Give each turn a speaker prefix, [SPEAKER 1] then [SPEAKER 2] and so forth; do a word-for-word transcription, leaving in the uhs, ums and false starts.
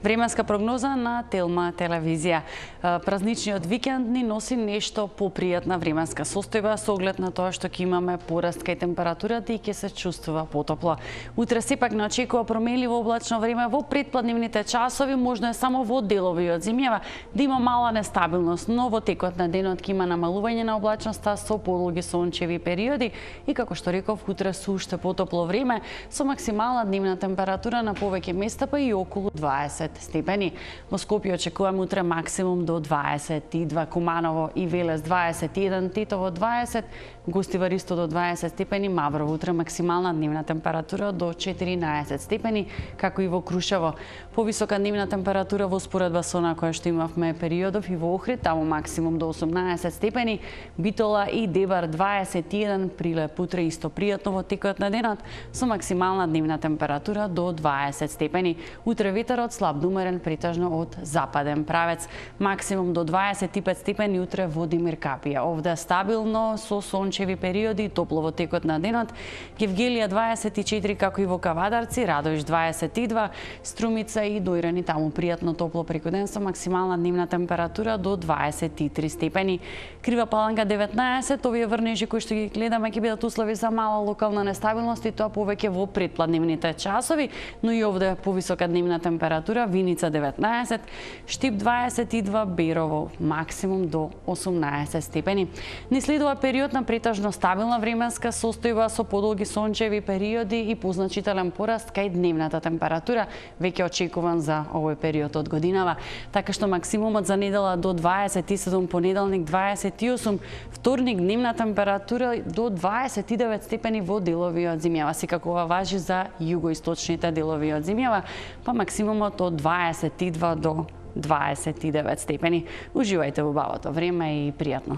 [SPEAKER 1] Временска прогноза на Телма телевизија. Празничниот викенд ни носи нешто попријатна временска состојба со оглед на тоа што ќе имаме пораст кај температурата и ќе се чувствува потопло. Утре сепак не очекува променливо облачно време во предпладнивните часови, можно е само во делови од зимјава да има мала нестабилност, но во текот на денот ќе има намалување на облачноста со подолги сончеви периоди и како што реков, утре со уште потопло време со максимална дневна температура на повеќе места па и околу дваесет степени. Во Скопје очекуваме утре максимум до дваесет и два, Куманово и Велес дваесет и еден, Тетово дваесет, Гостивар исто до дваесет степени, Маврово утре максимална дневна температура до четиринаесет степени, како и во Крушево. Повисока дневна температура во споредба со на која што имавме периодов и во Охрид, таму максимум до осумнаесет степени, Битола и Дебар дваесет и еден, Прилеп утре исто пријатно во текот на денот со максимална дневна температура до дваесет степени. Утре ветерот слаб до умерен претежно од западен правец. Максимум до дваесет и пет степени утре во Димир Капија. Овде стабилно со сончеви периоди, топло во текот на денот. Гевгелија дваесет и четири, како и во Кавадарци, Радовиш дваесет и два, Струмица и Дојрани таму пријатно топло преку ден со максимална дневна температура до дваесет и три степени. Крива Паланка деветнаесет, овие врнежи кои што ги гледаме ќе бидат услови за мала локална нестабилност и тоа повеќе во предпладнивните часови, но и овде повисока дневна температура. Виница деветнаесет, Штип дваесет и два, Берово максимум до осумнаесет степени. Ни следува период на претежно стабилна временска состојба со подолги сончеви периоди и позначителен пораст кај дневната температура, веќе очекуван за овој период од годинава. Така што максимумот за недела до дваесет и седум, понеделник дваесет и осум, вторник дневна температура до дваесет и девет степени во делови од зимјава. Секако ова важи за југоисточните делови од зимјава, па максимумот од дваесет и два до дваесет и девет степени. Уживајте во убавото време и пријатно.